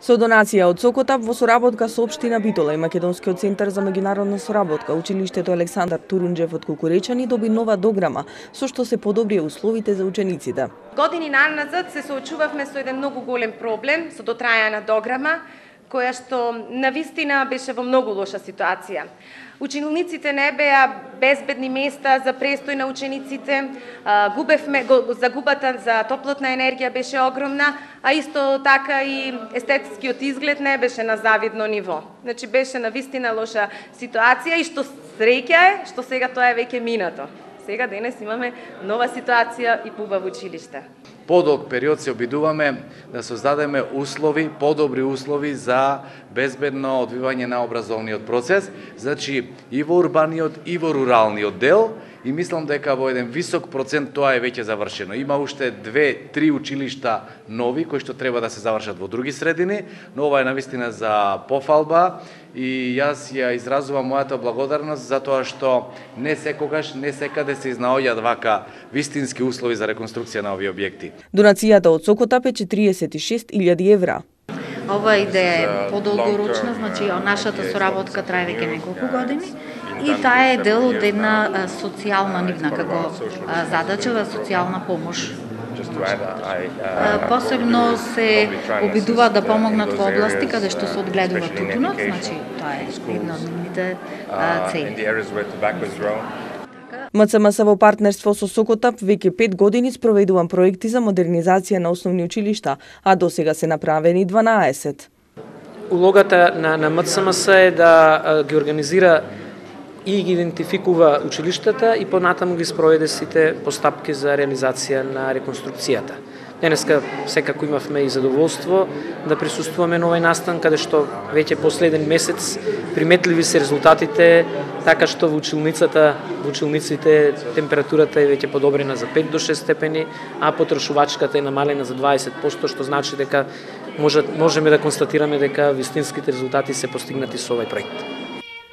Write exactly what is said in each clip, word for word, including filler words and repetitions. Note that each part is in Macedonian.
Со донација од Сокотап во соработка со општина Битола и Македонскиот центар за меѓународна соработка, училиштето Александар Турунџев од Кукуречани доби нова дограма со што се подобрија условите за учениците. Години наназад се соочувавме со еден многу голем проблем со дотрајана дограма, која што навистина беше во многу лоша ситуација. Учениците не беа безбедни места за престој на учениците, губевме, загубата за топлотна енергија беше огромна, а исто така и естетскиот изглед не беше на завидно ниво. Значи беше навистина лоша ситуација и што среќа е, што сега тоа е веќе минато. Сега денес имаме нова ситуација и поубаво училиште. Подолг период се обидуваме да создадеме услови, подобри услови за безбедно одвивање на образовниот процес, значи и во урбаниот и во руралниот дел, и мислам дека во еден висок процент тоа е веќе завршено. Има уште две, три училишта нови кои што треба да се завршат во други средини, но ова е навистина за пофалба и јас ја изразувам мојата благодарност за тоа што не секогаш, не секаде се изнаоѓаат вака вистински услови за реконструкција на овие објекти. Донацијата од Сокотап е четириесет и шест илјади евра. Ова идеја е подолгорочна, значи нашата соработка трае веќе неколку години и таа е дел од една социјална нивна како задача, социјална помош. Посебно се обидуваат да помогнат во области каде што се одгледува тутунот, значи тоа е една од нивните цели. МЦМС во партнерство со Сокотап веќе пет години спроведуван проекти за модернизација на основни училишта, а досега се направени дванаесет. Улогата на, на МЦМС е да ги организира и ги идентификува училиштата и понатаму ги спроведе сите постапки за реализација на реконструкцијата. Денеска секако имавме и задоволство да присуствуваме на овој настан, каде што веќе последен месец приметливи се резултатите, така што во училницата, во училниците температурата е веќе подобрена за пет до шест степени, а потрошувачката е намалена за дваесет проценти, што значи дека може, можеме да констатираме дека вистинските резултати се постигнати со овој проект.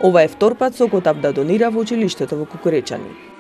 Ова е втор пат Сокотап да донира во училиштето во Кукуречани.